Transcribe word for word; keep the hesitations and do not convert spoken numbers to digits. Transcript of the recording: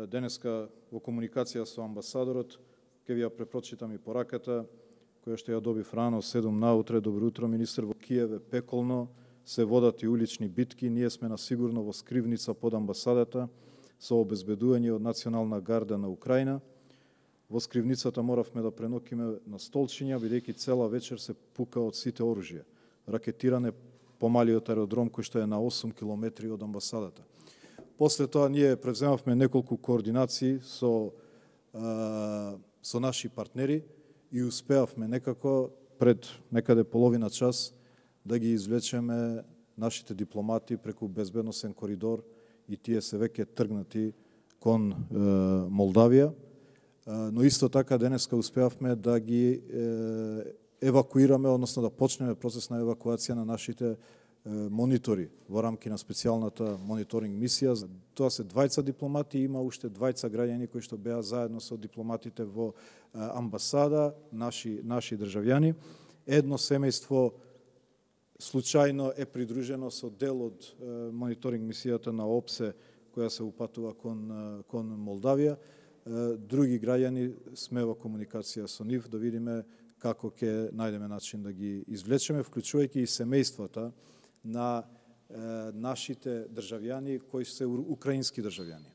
денеска во комуникација со амбасадорот, ќе ви ја препрочитам и пораката, која што ја добив рано, седум наутре. Добро утро, министер, во Киев е пеколно, се водат и улични битки, ние сме на сигурно во скривница под амбасадата, со обезбедување од Национална гарда на Украина. Во скривницата моравме да пренокиме на столчиња, бидејќи цела вечер се пука од сите оружја. Ракетиране по малиот аеродром кој што е на осум километри од амбасадата. После тоа ние превземавме неколку координации со, а, со наши партнери и успеавме некако пред некаде половина час да ги извлечеме нашите дипломати преку безбедносен коридор и тие се веќе тргнати кон е, Молдавија. Е, но исто така денеска успеавме да ги е, евакуираме, односно да почнеме процес на евакуација на нашите монитори во рамки на специјалната мониторинг мисија. Тоа се двајца дипломати, има уште двајца граѓани кои што беа заедно со дипломатите во амбасада, наши, наши државјани. Едно семејство случајно е придружено со дел од мониторинг мисијата на ОПСЕ, која се упатува кон, кон Молдавија. Други граѓани сме во комуникација со нив да видиме како ќе најдеме начин да ги извлечеме, вклучувајќи и семејствата на е, нашите државјани кои се украински државјани.